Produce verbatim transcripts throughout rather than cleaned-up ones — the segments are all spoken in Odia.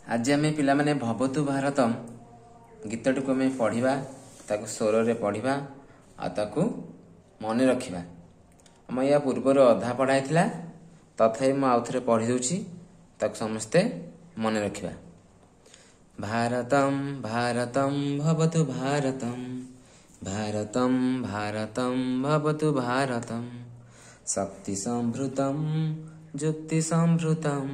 ଆଜି ଆମେ ପିଲାମାନେ ଭବତୁ ଭାରତମ ଗୀତଟିକୁ ଆମେ ପଢ଼ିବା, ତାକୁ ସ୍ୱରରେ ପଢ଼ିବା ଆଉ ତାକୁ ମନେ ରଖିବା। ଆମ ୟା ପୂର୍ବରୁ ଅଧା ପଢ଼ା ହେଇଥିଲା, ତଥାପି ମୁଁ ଆଉ ଥରେ ପଢ଼ି ଦେଉଛି, ତାକୁ ସମସ୍ତେ ମନେ ରଖିବା। ଭାରତମ ଭାରତମ ଭବତୁ ଭାରତମ, ଭାରତମ ଭାରତମ ଭବତୁ ଭାରତମ, ଶକ୍ତି ସମ୍ଭୃତମ ଯୁକ୍ତି ସମ୍ଭୃତମ,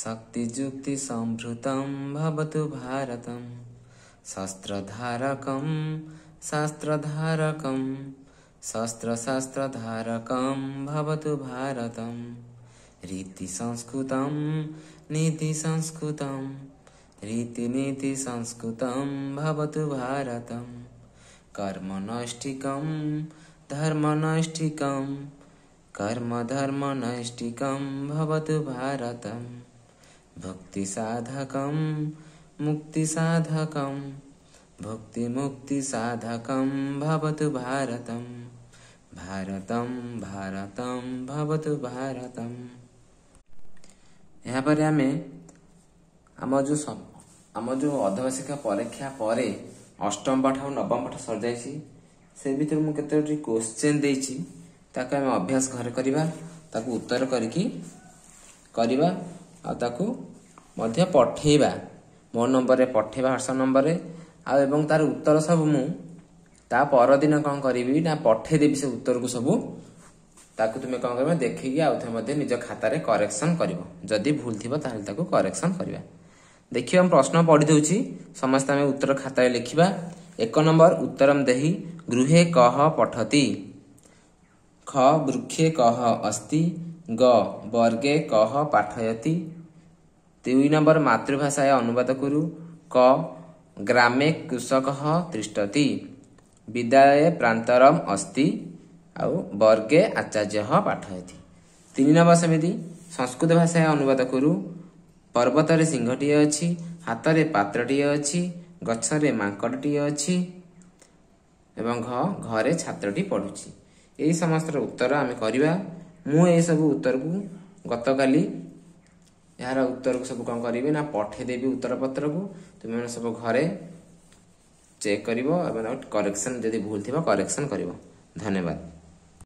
ଶକ୍ତି ଯୁକ୍ତି ସମ୍ଭୃତମ ଭବତୁ ଭାରତମ, ଶସ୍ତ୍ରଧାରକମ ଶାସ୍ତ୍ରଧାରକମ, ଶସ୍ତ୍ରଶାସ୍ତ୍ରଧାରକମ ଭବତୁ ଭାରତମ, ରୀତି ସଂସ୍କୃତମ ନୀତି ସଂସ୍କୃତମ, ରୀତିନୀତି ସଂସ୍କୃତମ ଭବତୁ ଭାରତମ, କର୍ମନୈଷ୍ଠିକମ ଧର୍ମନୈଷ୍ଠିକମ, କର୍ମଧର୍ମନୈଷ୍ଠିକମ ଭବତୁ ଭାରତମ, ଭକ୍ତିସାଧକମ ମୁକ୍ତିସାଧକମ, ଭକ୍ତିମୁକ୍ତିସାଧକମ ଭବତୁ ଭାରତମ, ଭାରତମ ଭାରତମ ଭବତୁ ଭାରତମ। ଏହାପରେ ଆମେ ଆମ ଯେଉଁ ଆମ ଯେଉଁ ଅର୍ଦ୍ଧବାର୍ଷିକ ପରୀକ୍ଷା ପରେ ଅଷ୍ଟମ ପାଠ ଆଉ ନବମ ପାଠ ସରିଯାଇଛି, ସେ ଭିତରେ ମୁଁ କେତୋଟି କୋଶ୍ଚେନ୍ ଦେଇଛି, ତାକୁ ଆମେ ଅଭ୍ୟାସ ଘରେ କରିବା, ତାକୁ ଉତ୍ତର କରିକି କରିବା ଆଉ ତାକୁ ମଧ୍ୟ ପଠେଇବା, ମୋ ନମ୍ବରରେ ପଠେଇବା, ହ୍ୱାଟ୍ସଆପ୍ ନମ୍ବରରେ। ଆଉ ଏବଂ ତାର ଉତ୍ତର ସବୁ ମୁଁ ତା ପରଦିନ କ'ଣ କରିବି ନା ପଠେଇଦେବି ସେ ଉତ୍ତରକୁ ସବୁ। ତାକୁ ତୁମେ କ'ଣ କରିବ, ଦେଖିକି ଆଉ ଥରେ ମଧ୍ୟ ନିଜ ଖାତାରେ କରେକ୍ସନ୍ କରିବ। ଯଦି ଭୁଲ ଥିବ ତାହେଲେ ତାକୁ କରେକ୍ସନ୍ କରିବା। ଦେଖିବା, ମୁଁ ପ୍ରଶ୍ନ ପଢ଼ି ଦେଉଛି, ସମସ୍ତେ ଆମେ ଉତ୍ତର ଖାତାରେ ଲେଖିବା। ଏକ ନମ୍ବର, ଉତ୍ତରମ ଦେହି। ଗୃହେ କହ ପଠତି? ଖ ବୃକ୍ଷେ କହ ଅସ୍ତି? ଗ ବର୍ଗେ କହ ପାଠୟତି? ଦୁଇ ନମ୍ବର, ମାତୃଭାଷାୟ ଅନୁବାଦ କୁରୁ। କ ଗ୍ରାମେ କୃଷକ ତିଷ୍ଠତି, ବିଦ୍ୟାଳୟ ପ୍ରାନ୍ତରମ ଅସ୍ତି, ଆଉ ବର୍ଗେ ଆଚାର୍ଯ୍ୟ ପାଠୟତି। ତିନି ନମ୍ବର ସେମିତି ସଂସ୍କୃତ ଭାଷାୟ ଅନୁବାଦ କରୁ। ପର୍ବତରେ ସିଂହଟିଏ ଅଛି, ହାତରେ ପାତ୍ରଟିଏ ଅଛି, ଗଛରେ ମାଙ୍କଡ଼ଟିଏ ଅଛି ଏବଂ ଘ ଘରେ ଛାତ୍ରଟି ପଢ଼ୁଛି। ଏହି ସମସ୍ତର ଉତ୍ତର ଆମେ କରିବା। ମୁଁ ଏସବୁ ଉତ୍ତରକୁ ଗତକାଲି ଏହାର ଉତ୍ତରକୁ ସବୁ କ'ଣ କରିବି ନା ପଠେଇଦେବି ଉତ୍ତର ପତ୍ରକୁ। ତୁମେମାନେ ସବୁ ଘରେ ଚେକ୍ କରିବ ଏବଂ କରେକ୍ସନ୍ ଯଦି ଭୁଲ ଥିବ କରେକ୍ସନ୍ କରିବ। ଧନ୍ୟବାଦ।